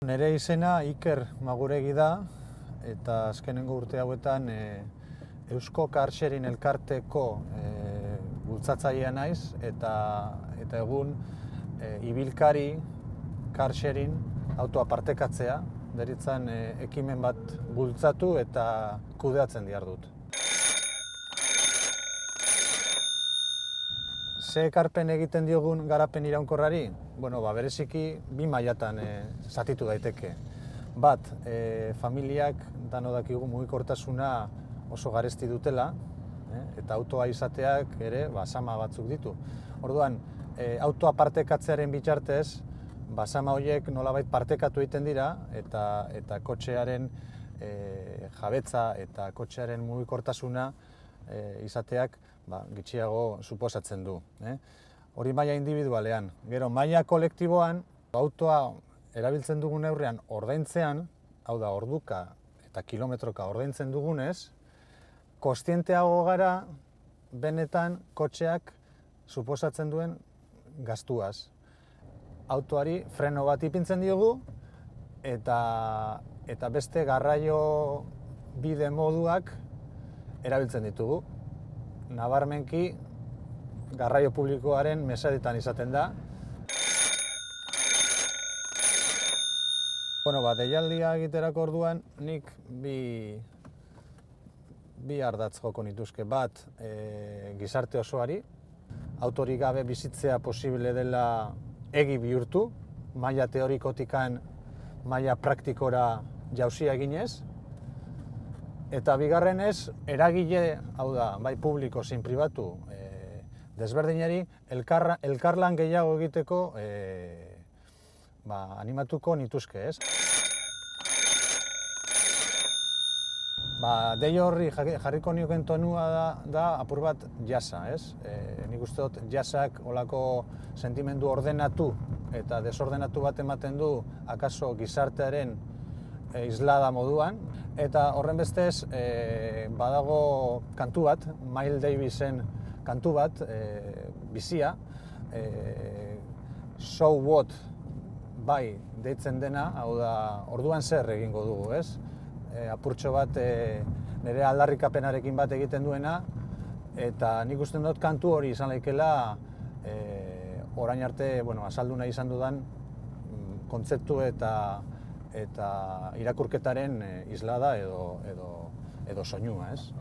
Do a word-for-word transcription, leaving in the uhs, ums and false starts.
Nere izena Iker Maguregi da, eta azkenengo urte hauetan e, Eusko Car Sharing elkarteko e, bultzatzailea naiz, eta, eta egun e, ibilkari car sharing autoa partekatzea, deritzan e, ekimen bat bultzatu eta kudeatzen dihardut. Ze ekarpen egiten diogun garapen iraunkorrari? Bueno, ba, bereziki bi mailatan e, zatitu daiteke. Bat, e, familiak dano dakigu mugikortasuna oso garesti dutela, e, eta autoa izateak ere ba, sama batzuk ditu. Orduan, e, autoa partekatzearen bitartez, ba, sama horiek nolabait partekatu egiten dira, eta, eta kotxearen e, jabetza eta kotxearen mugikortasuna e, izateak ba, gitxiago suposatzen du. Eh? Hori maila individualean. Gero, maila kolektiboan, autoa erabiltzen dugun neurrian ordaintzean, hau da, orduka eta kilometroka ordaintzen dugunez, kontzienteago gara benetan kotxeak suposatzen duen gastuaz. Autoari freno bat ipintzen diogu, eta, eta beste garraio bide moduak erabiltzen ditugu. Nabarmenki, garraio publikoaren mesedetan izaten da. Bueno, ba, deialdia egiterako orduan, nik bi, bi ardatz joko nituzke. Bat, e, gizarte osoari, autorik gabe bizitzea posible dela egi bihurtu, maila teorikotikan maila praktikora jauzia eginez. Eta bigarrenez, eragile, hau da, bai publiko zein pribatu, e, desberdinari, elkar, elkarlan gehiago egiteko e, ba, animatuko nituzke, ez? Ba, dei horri jarriko nioken tonua da, da apur bat jasa, ez? E, nik uste dut jasak olako sentimendu ordenatu eta desordenatu bat ematen du akaso gizartearen e, islada moduan. Eta horren bestez, e, badago kantu bat, Miles Davisen kantu bat, e, bizia, e, So What bai deitzen dena, hau da, orduan zer egingo dugu, ez? E, apurtxo bat e, nire aldarrikapenarekin bat egiten duena, eta nik uste dut kantu hori izan laikela e, orain arte, bueno, azaldu nahi izan dudan kontzeptu eta eta irakurketaren islada edo, edo, edo soinua, ez?